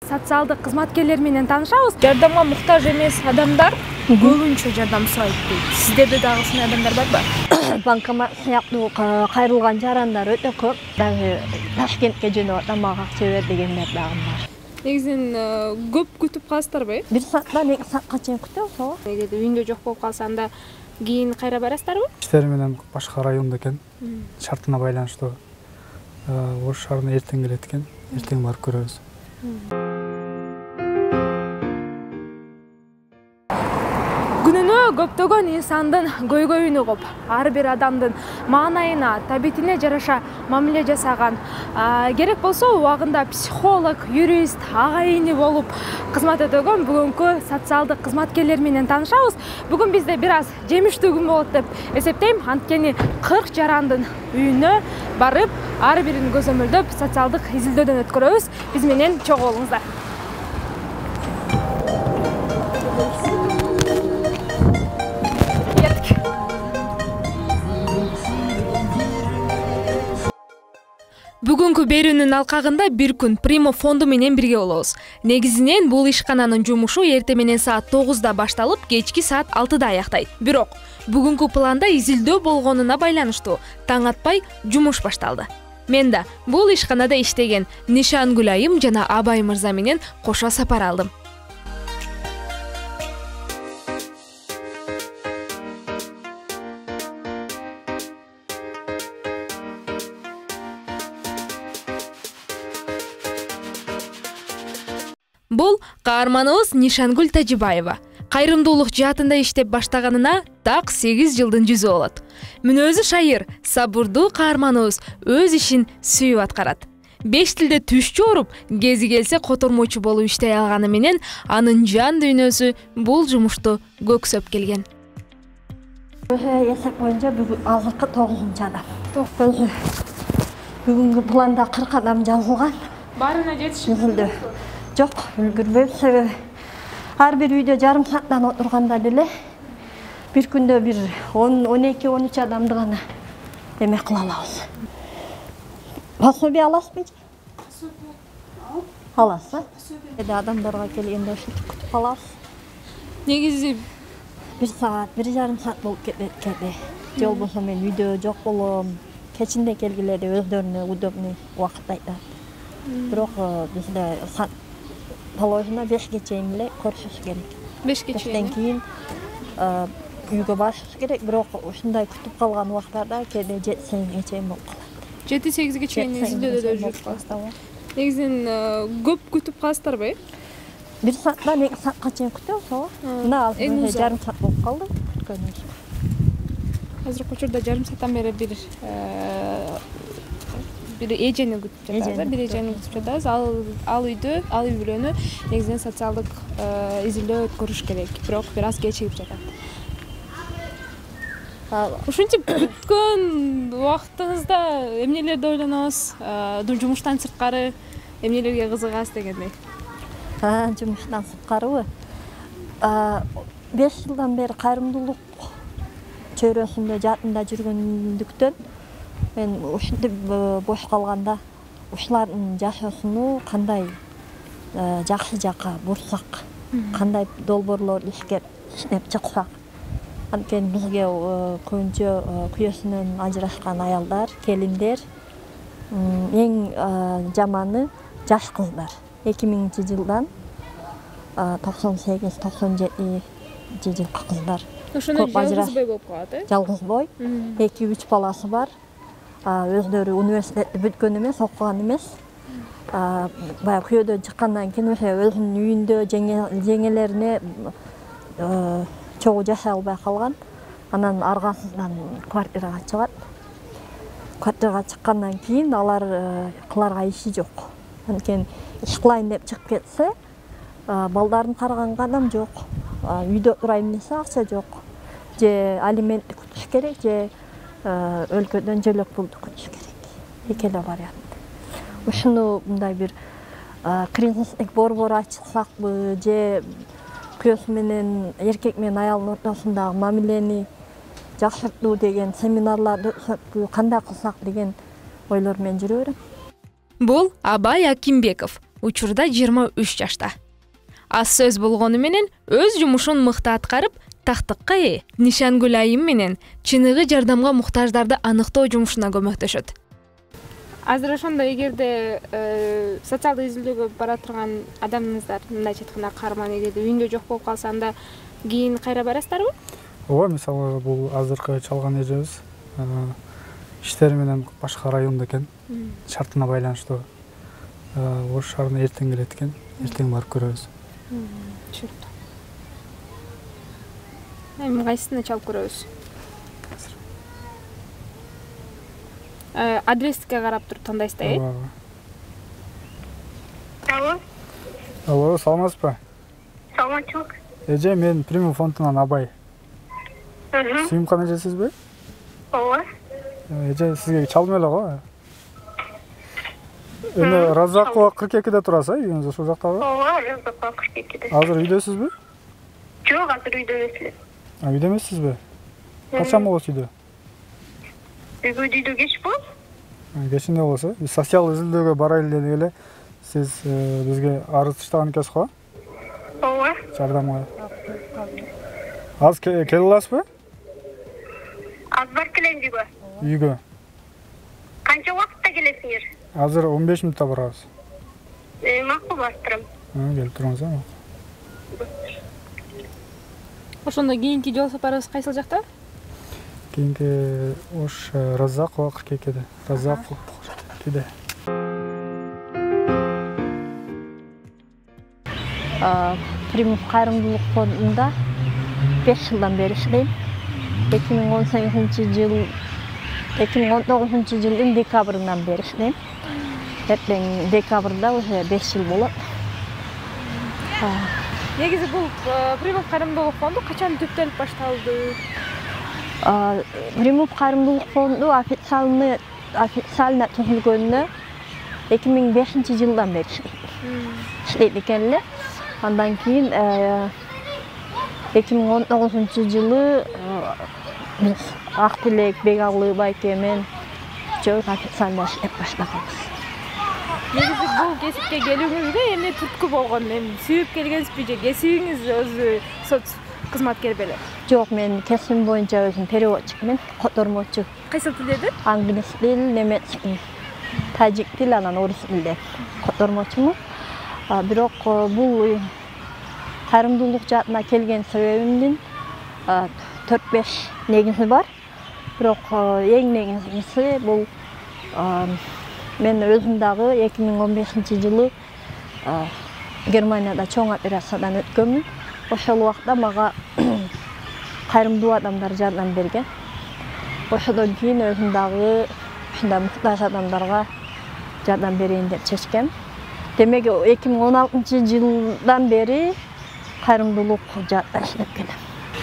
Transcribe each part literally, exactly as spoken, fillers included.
Социалдык кызматкерлер менен таанышабыз. Жардамга муктаж эмес адамдар көбүнчө жардам сурайт дейт. Сиздерде дагы ушундай адамдар барбы? Банкомат сыяктуу кайрылган жарандар өтө көп. Дагы Ташкентке жөнөп атам, мага акча бер дегендер дагы бар. Негизинен көп күтүп каласыздарбы? Бир сааттан эки саатка чейин күтөбүз, ооба. Эгерде үйүндө жок болуп калса, анда кийин кайра барасыздарбы? Иштери менен башка районда экен. Шартына байланыштуу. Ош шаарына эртең келет экен. Эртең барып көрөбүз. Күнүнө көптөгөн инсандын көйгөйүнө коп, ар бир адамдын маанайына, табитине жараша мамиле жасаган, керек болсо убагында психолог, юрист, агайыны болуп кызмат өтөгөн бүгүнкү социалдык кызматкерлер менен таанышабыз. Бүгүн бизде бир аз жемиштүү күн болот деп эсептейм. Анткени кырк жарандын үйүнө барып, ар бирин көзөмөлдөп, социалдык изилдөөдөн өткөрөбүз. Биз менен чогуу болуңуздар. Бүгүнкү берүүнүн алкагында бир күн Primo фонду менен бирге болобуз. Негизинен бул ишкананын жумушу эртең менен саат тогузда башталып, кечки саат алтыда аяктайт. Бирок бүгүнкү планда изилдөө болгонуна байланыштуу таң атпай жумуш башталды. Мен да бул ишканада иштеген Нишангүл айым жана Абай мырза менен кошо сапар алдым. Бул каарманыбыз Нишангүл Тажибаева. Кайрымдуулук жаатында иштеп баштаганына так сегиз жылдын жүзү болот. Мүнөзү шайыр, сабырдуу каарманыбыз өз ишин сүйүп аткарат. Беш тилде түшчү оруп, кези келсе котормочу болуп иштей алганы менен анын жан дүйнөсү бул жумушту көксөп келген. Эсеп боюнча бүгүн азыркы тогузунчу адам. Бүгүнкү планда кырк адам жазылган. Баарына жетишти. Жок, үлгүрбөйм, себеби ар бир үйдө жарым сааттан отурганда деле бир күндө бир он эки он үч адамды гана эме кыла алабыз. Пособие аласызбы? Аласыз. Эде адамдарга келгенде ушинтип күтүп калабыз. Негизи бир саат, бир жарым саат болуп кетет кеде. Же болбосо мен үйдө жок болом. Кечинде келгиледе өздөрүнө удобный убакыт айтат. Бирок бизде положено бешке чейин эле көрүшүбүз керек. Бешке чейин. Бештен кийин үйгө барышыбыз керек, бирок ушундай күтүп калган убактарда кээде жети сегизге чейин болуп калат. жети сегизге чейин изилдөөдө жүрүп каласыздар. Негизинен көп күтүп каласыздарбы? Бир сааттан эки саатка чейин күтөбүз, ооба. Мына азыр жарым саат болуп калды күткөнүбүз. Азыркы учурда жарым сааттан бери бир бир эжени күтүп жатабыз, бир эжени күтүп жатабыз. Ал ал үйдө, ал үй бүлөнү негизинен социалдык изилдөө өткөрүш керек, бирок бир аз кечигип жатат. Ушинтип күткөн убактыңызда эмнелерди ойлоносуз? Жумуштан сырткары эмнелерге кызыгасыз дегендей. Жумуштан сырткарыбы? беш жылдан бери кайрымдуулук чөйрөсүндө жаатында жүргөндүктөн мен ушинтип бош калганда ушулардын жашоосуну кандай жакшы жакка бурсак, кандай долбоорлор иштеп чыксак. Анткени бизге көбүнчө күйөөсүнөн ажырашкан аялдар, келиндер, эң жаманы жаш кыздар. эки миңинчи жылдан токсон сегиз токсон жети жылкы кыздар. Ошону жалгыз бой болуп калат, э? Жалгыз бой. эки үч баласы бар. Өздөрү университетти бүткөн эмес, окуган эмес. Баягы күйөөдөн чыккандан кийин ошо өзүнүн үйүндө жеңелерине чогуу жашай албай калган. Анан аргасыздан квартирага чыгат. Квартирага чыккандан кийин алар кыларга иши жок. Анткени иш кылайын деп чыгып кетсе, балдарын караганга адам жок. Үйдө турайын десе акча жок. Же алиментти күтүш керек, же өлкөдөн жөлөк пулду күтүш керек. Эки эле вариант. Ушуну мындай бир кризистик борбор ачсакпы, же күйөөсү менен эркек менен аялдын ортосундагы мамилени жакшыртуу деген семинарларды өткөзүп, кандай кылсак деген ойлор менен жүрө берем. Бул Абай Акимбеков. учурда жыйырма үч жашта. Аз сөз болгону менен өз жумушун мыкты аткарып, тактыкка ээ Нишангүл айым менен чыныгы жардамга муктаждарды аныктоо жумушуна көмөктөшөт. Азыр ошондо эгерде социалдык изилдөөгө бара турган адамыңыздар, мындайча айтканда каарман эгерде үйүндө жок болуп калса, анда кийин кайра барасыздарбы? Ооба, мисалы бул азыркы чалган эжебиз иштери менен башка райондо экен. Шартына байланыштуу Ош шаарына эртең келет экен. Эртең барып көрөбүз. Түшүнүктүү. Эми кайсысына чалып көрөбүз? Адреске карап туруп тандайсызда, э? Алло. Алло, саламатсызбы? Саламатчылык. Эже, мен Приму фондунан Абай. Мм. Сүйүмкан эжесизби? Ооба. Эже, сизге чалдым эле го. Эми Разакова кырк экиде турасыз, э? Үйүңүз ошол жактабы? Ооба, Разакова кырк экиде. Азыр үйдөсүзбү? Жок, азыр үйдө эмес эле. А, үйдө эмессизби? Качан болосуз үйдө? Бүгүн үйдө кеч болот. Кечинде болсо, биз социал изилдөөгө барайлы дедик эле. Сиз бизге арыз таштаган экенсиз го? Ооба. Жардамга. Азыр келе аласызбы? Аз барып келем үйгө. Үйгө. Канча убакытта келесиңер? Азыр он беш мүнөттө барабыз. Э, макул, барып турам. Келип туруңуз, э? Ошондо кийинки жол сапарыбыз кайсыл жакта? Кийинки Ош Разакова кырк экиде. Разакова кырк экиде. Примус кайрымдуулук фондунда беш жылдан бери иштейм. эки миң он сегизинчи жыл эки миң он тогузунчу жылдын декабрынан бери иштейм. Эртең декабрда уже беш жыл болот. Негизи бул Примус кайрымдуулук фонду качан түптөлүп башталды? Примус кайрымдуулук фонду официально официально түзүлгөнүнө эки миң бешинчи жылдан бери иштейт экен эле. Андан кийин эки миң он тогузунчу жылы биз Актилек Бегалы байке менен үчөөбүз официально иштеп баштаганбыз. Негизи бул кесипке келүүңүзгө эмне түрткү болгон? Эми сүйүп келгенсизби же кесибиңиз өзү соц кызматкер беле? Жок, мен кесибим боюнча өзүм переводчикмин, котормочу. Кайсыл тилдеди? Англис тил, немец тил, тажик тил, анан орус тилде котормочумун. Бирок бул кайрымдуулук жаатына келген себебимдин төрт беш негизи бар. Бирок эң негизгиси бул мен өзүм дагы эки миң он бешинчи жылы Германияда чоң операциядан өткөнмүн. Ошол убакта мага кайрымдуу адамдар жардам берген. Ошодон кийин өзүм дагы ушундай муктаж адамдарга жардам берейин деп чечкем. Демек эки миң он алтынчы жылдан бери кайрымдуулук жаатта иштеп келем.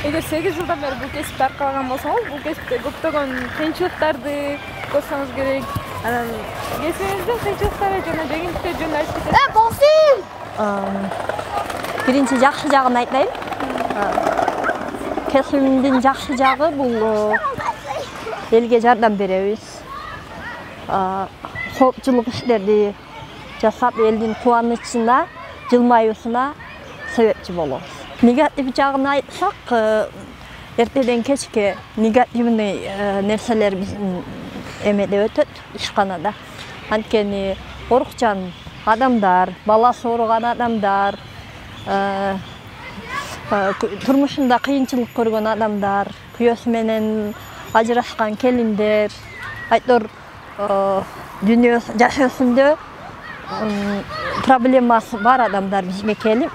Эгер сегиз жылдан бери бул кесипти аркалаган болсоңуз, бул кесипте көптөгөн кыйынчылыктарды көрсөңүз керек. Анан кесибиңиздин кыйынчылыктары жана жеңилдиктери жөнүндө айтып кетесизби? Э, болсун. Биринчи жакшы жагын айтайын. Кесибимдин жакшы жагы бул элге жардам беребиз. Коопчулук иштерди жасап, элдин кубанычына, жылмаюусуна себепчи болобуз. Негатив жагын айтсак, эртеден кечке негативный нерселер биздин эмеде өтөт, ишканада. Анткени орукчан адамдар, баласы ооруган адамдар, турмушунда кыйынчылык көргөн адамдар, күйөөсү менен ажырашкан келиндер, айтор дүйнө жашоосунда проблемасы бар адамдар бизге келип,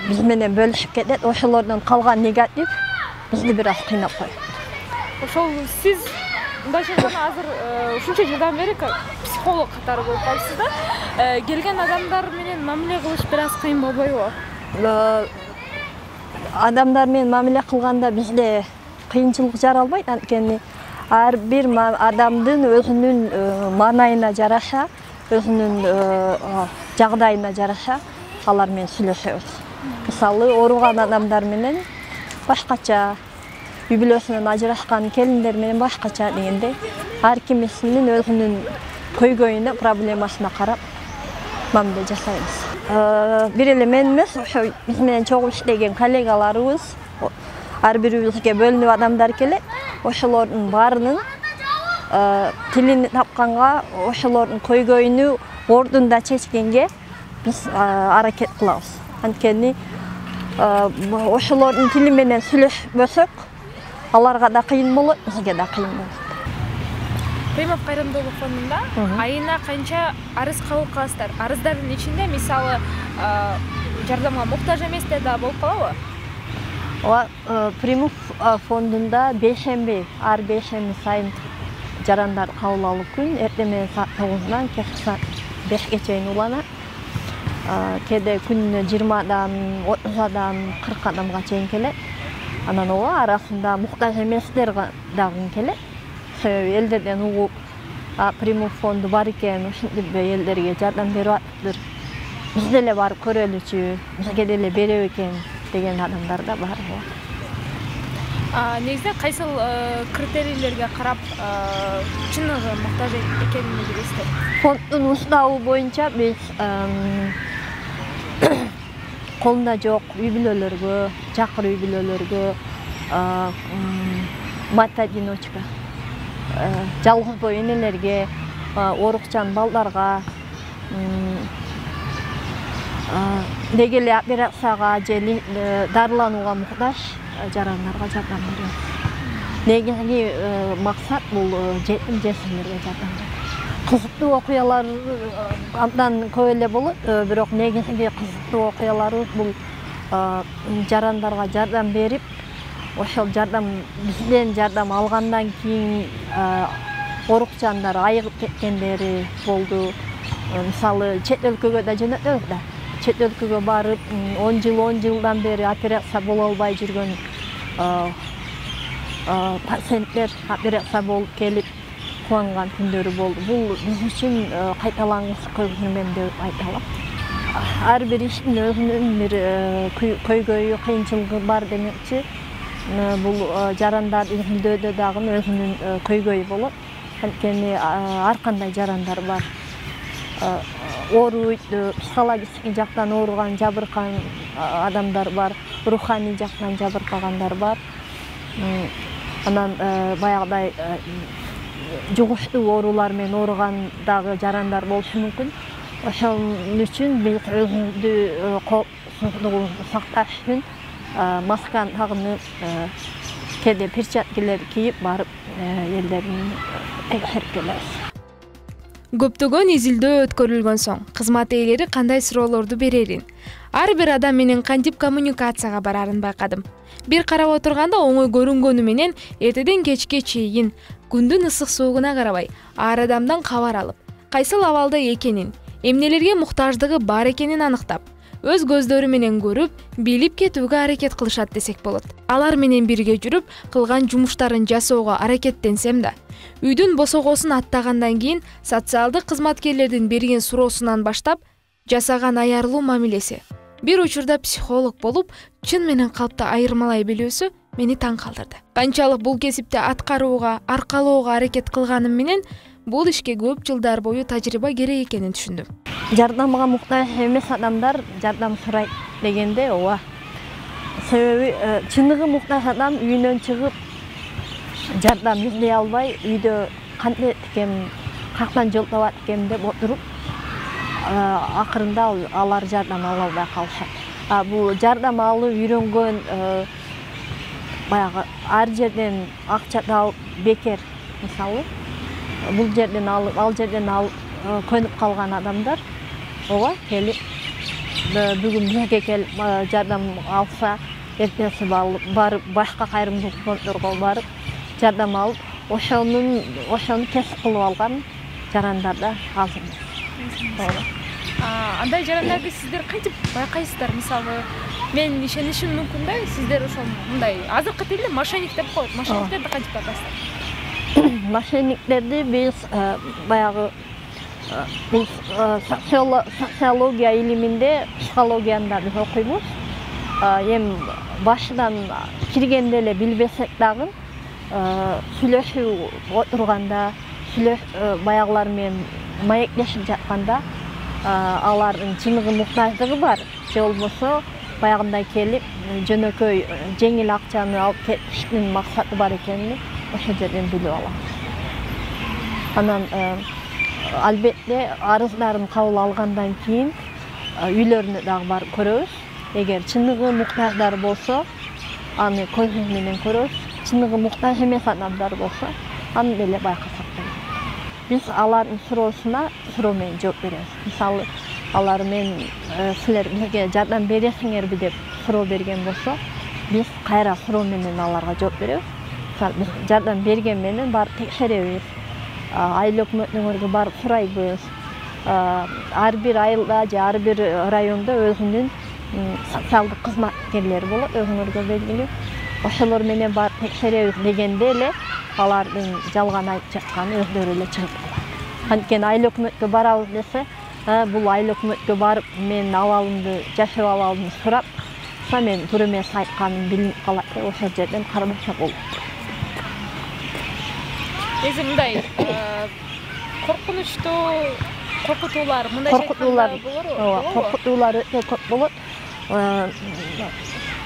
биз менен бөлүшүп кетет. Ошолордон калган негатив бизди бир аз кыйнап коет. Ошол сиз мындайча айтканда азыр ушунча жылдан бери психолог катары болуп калдыңыз да. Келген адамдар менен мамиле кылыш бир аз кыйын болбойбу? Адамдар менен мамиле кылганда бизде кыйынчылык жаралбайт, анткени ар бир адамдын өзүнүн маанайына жараша, өзүнүн жагдайына жараша алар менен сүйлөшөбүз. Мисалы, ооруган адамдар менен башкача, үй бүлөсүнөн ажырашкан келиндер менен башкача дегендей, ар кимисинин өзүнүн көйгөйүнө, проблемасына карап мамиле жасайбыз. Бир эле мен эмес, ошо биз менен чогуу иштеген коллегаларыбыз, ар бирибизге бөлүнүп адамдар келет. Ошолордун баарынын тилин тапканга, ошолордун көйгөйүнү ордунда чечкенге биз аракет кылабыз. Анткени ошолордун тили менен сүйлөшпөсөк, аларга да кыйын болот, бизге да кыйын болот. Примов кайрымдуулук фондунда айына канча арыз кабыл кыласыздар? Арыздардын ичинде мисалы жардамга муктаж эместер да болуп калабы? Ооба, Примов фондунда бейшемби, ар бейшемби сайын жарандар кабыл алуу күн, эртең менен саат тогуздан кечки саат бешке чейин уланат. Кээде күнүнө жыйырма адам, отуз адам, кырк адамга чейин келет. Анан ооба, арасында муктаж эместер дагы келет. Себеби элдерден угуп, Примов фонду бар экен, ушинтип элдерге жардам берип атыптыр. Биз деле барып көрөлүчү, бизге деле берет экен деген адамдар да бар. Негизинен кайсыл критерийлерге карап чыныгы муктаж экенин билесиздер? Фонддун уставы боюнча биз колунда жок үй-бүлөлөргө, жакыр үй-бүлөлөргө, мать-одиночка, жалгыз бой энелерге, оорукчан балдарга, деги эле операцияга же дарыланууга муктаж жарандарга жардам беребиз. Негизги максат бул жетим жесирлерге жардам берүү. Кызыктуу окуялар абдан көп эле болот, бирок негизги кызыктуу окуяларыбыз бул жарандарга жардам берип, ошол жардам бизден жардам алгандан кийин оорукчандар айыгып кеткендери болду. Мисалы, чет өлкөгө да жөнөтөбүз да. Чет өлкөгө барып, он жыл, он жылдан бери операция боло албай жүргөн пациенттер операция болуп келип кубанган күндөрү болду. Бул биз үчүн кайталангыс көргөнмөн деп айта алам. Ар бир иштин өзүнүн бир көйгөйү, кыйынчылыгы бар демекчи. Бул жарандар изилдөөдө дагы өзүнүн көйгөйү болот. Анткени ар кандай жарандар бар. Ооруйт, психологический жактан ооруган, жабыркан адамдар бар, руханий жактан жабыркагандар бар. Анан баягыдай жугуштуу оорулар менен ооруган дагы жарандар болушу мүмкүн. Ошол үчүн биз өзүбүздү коопсуздугубузду сакташ үчүн масканы тагынып, кээде перчаткалар кийип барып элдерин текшерип келебиз. Көптөгөн изилдөө өткөрүлгөн соң кызмат ээлери кандай суроолорду берерин, ар бир адам менен кантип коммуникацияга барарын байкадым. Бир карап отурганда оңой көрүнгөнү менен эртеден кечке чейин күндүн ысык суугуна карабай ар адамдан кабар алып, кайсыл абалда экенин, эмнелерге муктаждыгы бар экенин аныктап, өз көздөрү менен көрүп, билип кетүүгө аракет кылышат десек болот. Алар менен бирге жүрүп, кылган жумуштарын жасоого аракеттенсем да, үйдүн босогосун аттагандан кийин социалдык кызматкерлердин берген суроосунан баштап жасаган аярлуу мамилеси, бир учурда психолог болуп, чын менен калпты айырмалай билүүсү мени таң калтырды. Канчалык бул кесипти аткарууга, аркалоого аракет кылганым менен бул ишке көп жылдар бою тажрыйба керек экенин түшүндүм. Жардамга муктаж эмес адамдар жардам сурайт дегенде ооба. Себеби чыныгы муктаж адам үйүнөн чыгып жардам издей албай, үйдө кантип экем, кактан жол табат экем деп отуруп, акырында алар жардам ала албай калышат. Бул жардам алып үйрөнгөн, баягы ар жерден акча табып бекер, мисалы, бул жерден алып, ал жерден алып көнүп калган адамдар, ооба, келип бүгүн бизге келип жардам алса, эртеси барып башка кайрымдуулук фонддорго барып жардам алып, ошонун ошону кесип кылып алган жарандар да аз эмес. Андай жарандарды сиздер кантип байкайсыздар? Мисалы, мен ишенишим мүмкүн да, сиздер ошол мындай азыркы тилде мошенник деп коет. Мошенниктерди кантип байкайсыздар? Мошенниктерди биз баягы бул социология илиминде, психологияда биз окуйбуз. Эми башынан киргенде эле билбесек дагы, сүйлөшүп отурганда, сүйлөш баягылар менен маектешип жатканда, алардын чыныгы муктаждыгы бар же болбосо баягындай келип жөнөкөй жеңил акчаны алып кетиштин максаты бар экенин ошол жерден билип алабыз. Анан албетте арыздарын кабыл алгандан кийин үйлөрүнө дагы барып көрөбүз. Эгер чыныгы муктаждар болсо, аны көзүбүз менен көрөбүз. Чыныгы муктаж эмес адамдар болсо, аны деле байкасак болот. Биз алардын суроосуна суроо менен жооп беребиз. Мисалы, алар мен силер бизге жардам бересиңерби деп суроо берген болсо, биз кайра суроо менен аларга жооп беребиз. Мисалы, биз жардам берген менен барып текшеребиз. Айыл өкмөтүңөргө барып сурайбыз. Ар бир айылда же ар бир райондо өзүнүн социалдык кызматкерлери болот, өзүңөргө белгилүү. Ошолор менен барып текшеребиз дегенде эле алардын жалган айтып жатканы өздөрү эле чыгып калат. Анткени айыл өкмөткө барабыз десе, бул айыл өкмөткө барып мен абалымды, жашоо абалымды сурап, мен туура эмес айтканым билинип калат деп ошол жерден карабаса болот. Эзи мындай коркунучтуу коркутуулар мындай коркутуулар болорбу? Коркутуулар өтө көп болот.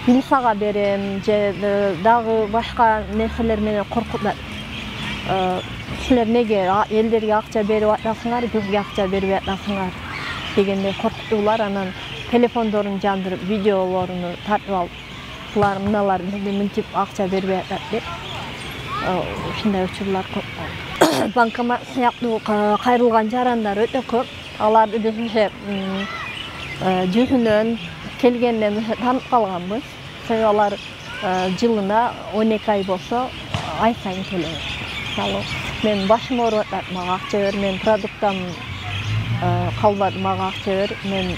Милицияга берем же дагы башка нерселер менен коркутат. Силер неге элдерге акча берип атасыңар, бизге акча бербей атасыңар дегендей коркутуулар. Анан телефондорун жандырып, видеолорун тартып алып, булар мыналар бизге мынтип акча бербей атат деп ушундай учурлар көп. Банкомат сыяктуу кайрылган жарандар өтө көп. Аларды биз уже жүзүнөн келгенден таанып калганбыз. Себеби алар жылына он эки ай болсо ай сайын келет. Мисалы, мен башым ооруп атат, мага акча бер, мен продуктам калбады, мага акча бер, мен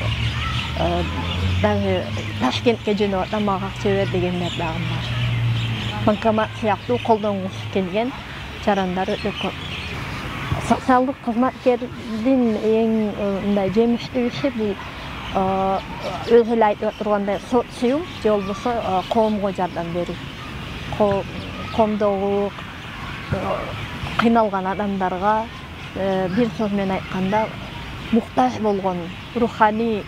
даже Ташкентке жөнөп атам, мага акча бер дегендер дагы бар. Банкомат сыяктуу колдонгусу келген жарандар өтө көп. Социалдык кызматкердин эң мындай жемиштүү иши бул өзү эле айтып тургандай социум же болбосо коомго жардам берүү. Коомдогу кыйналган адамдарга бир сөз менен айтканда муктаж болгон руханий,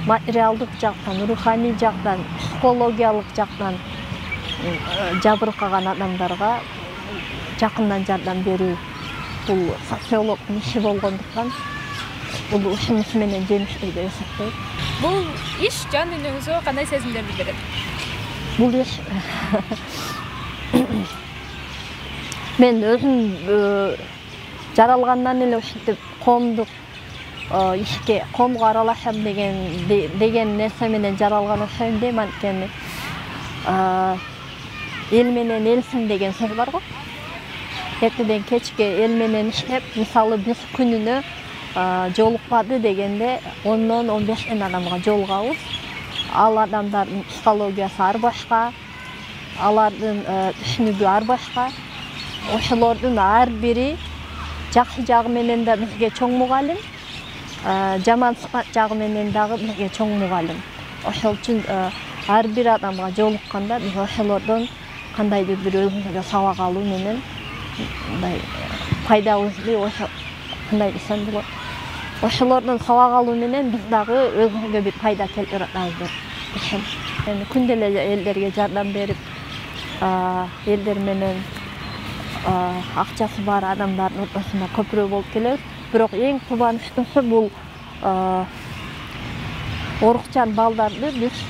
материалдык жактан, руханий жактан, психологиялык жактан жабыркаган адамдарга жакындан жардам берүү бул социологдун иши болгондуктан бул ушунусу менен жемиштүү деп эсептейм. Бул иш жан дүйнөңүзгө кандай сезимдерди берет? Бул иш мен өзүм жаралгандан эле ушинтип коомдук ишке, коомго аралашам деген деген нерсе менен жаралган окшойм дейм. Анткени эл менен элсиң деген сөз бар го. Эртеден кечке эл менен иштеп, мисалы биз күнүнө жолукпады дегенде ондон он бештен адамга жолугабыз. Ал адамдардын психологиясы ар башка, алардын түшүнүгү ар башка. Ошолордун ар бири жакшы жагы менен да бизге чоң мугалим, жаман сыпат жагы менен дагы бизге чоң мугалим. Ошол үчүн ар бир адамга жолукканда биз ошолордон кандайдыр бир өзүбүзгө сабак алуу менен мындай пайдабызды ошо кандай десем болот. Ошолордон сабак алуу менен биз дагы өзүбүзгө бир пайда келтирип атабыз деп ишенем. Эми күндө эле элдерге жардам берип, элдер менен акчасы бар адамдардын ортосунда көпүрө болуп келебиз. Бирок эң кубанычтуусу бул оорукчан балдарды биз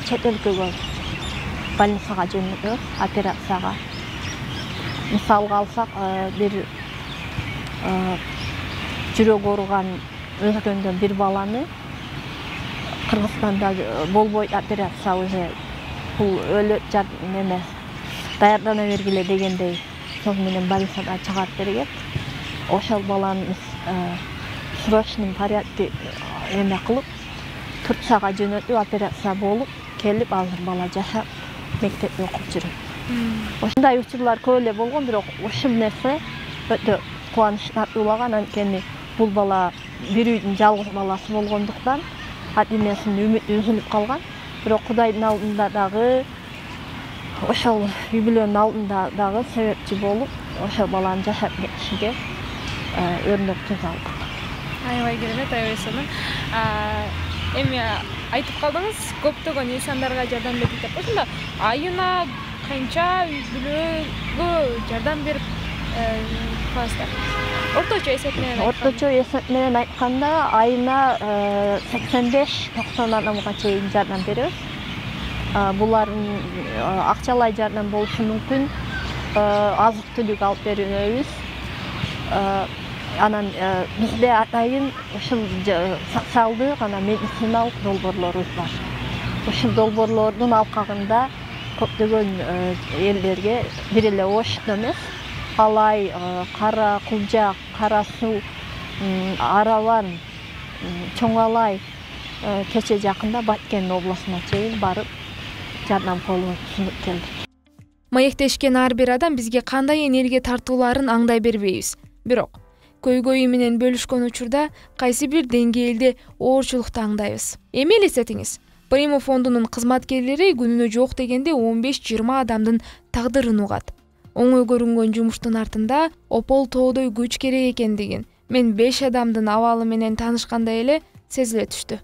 чет өлкөгө больницага жөнөтөбүз, операцияга. Мисалга алсак, бир жүрөк ооруган өлкөндөн бир баланы Кыргызстанда болбойт операция, уже бул өлөт неме даярдана бергиле дегендей сөз менен больницадан чыгарып берген. Ошол баланы срочный порядке эме кылып, Турцияга жөнөтүп, операция болуп, келип азыр бала жашап, мектепте окуп жүрөт. Ошондой учурлар көп эле болгон, бирок ушул нерсе өтө кубаныч тартуулаган. Анткени бул бала бир үйдүн жалгыз баласы болгондуктан адимесинин үмүтү үзүлүп калган. Бирок Кудайдын алдында дагы, ошол үй бүлөнүн алдында дагы себепчи болуп, ошол баланы жашап кетишиге өрнөк түзө алдык. Аябай керемет, аябай сонун. эми айтып калдыңыз, көптөгөн инсандарга жардам берди деп. Ошондо айына канча үй бүлөгө жардам берип каласыздар? Орточо эсеп менен айтканда. Орточо эсеп менен айтканда айына сексен беш токсон адамга чейин жардам беребиз. Булардын акчалай жардам болушу мүмкүн, азык түлүк алып беребиз. Анан бизде атайын ушул социалдык анан медициналык долбоорлорубуз бар. Ушул долбоорлордун алкагында көптөгөн элдерге бир эле Ошто эмес, Алай, Кара Кулжак, Кара Суу, Араван, Чоң Алай кече жакында Баткен областына чейин барып жардам колун сунуп келдик. Маектешкен ар бир адам бизге кандай энергия тартууларын аңдай бербейбиз. Бирок көйгөйү менен бөлүшкөн учурда кайсы бир деңгээлде оорчулукту аңдайбыз. Эми элестетиңиз, Примо фондунун кызматкерлери күнүнө жок дегенде он беш жыйырма адамдын тагдырын угат. Оңой көрүнгөн жумуштун артында опол тоодой күч керек экендигин мен беш адамдын абалы менен таанышканда эле сезиле түштү.